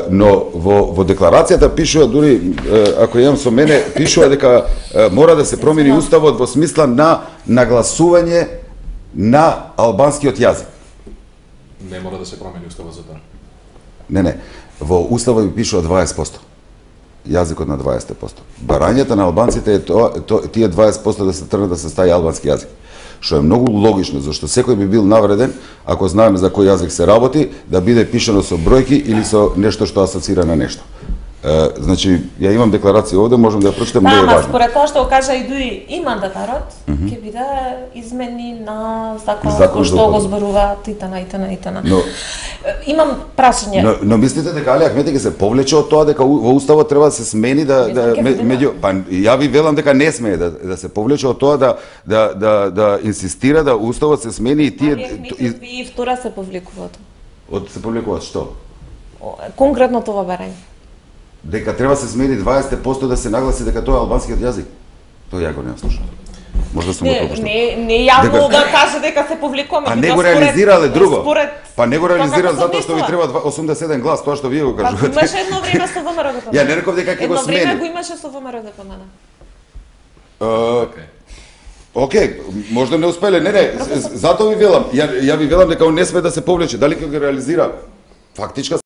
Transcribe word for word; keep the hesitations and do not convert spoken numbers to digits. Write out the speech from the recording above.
Но во, во декларацијата пишува, дури ако имам со мене, пишува дека мора да се промени уставот во смисла на нагласување на албанскиот јазик. Не мора да се промени уставот за тоа. Не, не. Во уставот ви пишува дваесет проценти. Јазикот на дваесет проценти. Барањето на албанците е тоа, тоа тие дваесет проценти да се тргнат да се стави албански јазик. Што е многу логично, зашто секој би бил навреден, ако знаеме за кој јазик се работи, да биде пишано со бројки или со нешто што асоцира на нешто. Е, значи, ја имам декларација овде, можам да ја прочитам, не е важно. Да, според тоа што го кажа и дуи и мандатарот, ќе mm -hmm. биде измени на закон, закон кој што го зборува итана, итана, итана. Но, имам прашање. Но, но мислите дека Али Ахмети ќе се повлече од тоа дека во уставот треба да се смени да да меѓу па ја ви велам дека не смее да да се повлече од тоа да да да да инсистира да уставот се смени и тие и, и втора се повлекуваат. Од се повлекуваат што? Конкретно тоа барање. Дека треба се смени дваесет проценти да се нагласи дека тоа е албанскиот јазик. Тоа ја го не слушам. Можда сум го пропуштил. Не, не јавно дека... да каже дека се повлекуваме. А не го реализирале друго. Според... Па не го реализирале затоа што ви треба осумдесет и еден глас, тоа што вие го кажувате. Па имаше едно време со ВМРО да помена. Ја не реков дека ќе го смени. Едно време го имаше со ВМРО да помена. Океј. Океј, можда не успеле. Не, не, затоа ви велам. Ја ја ви велам дека он не сме да се повлече. Дали ќе го реализира? Фактичка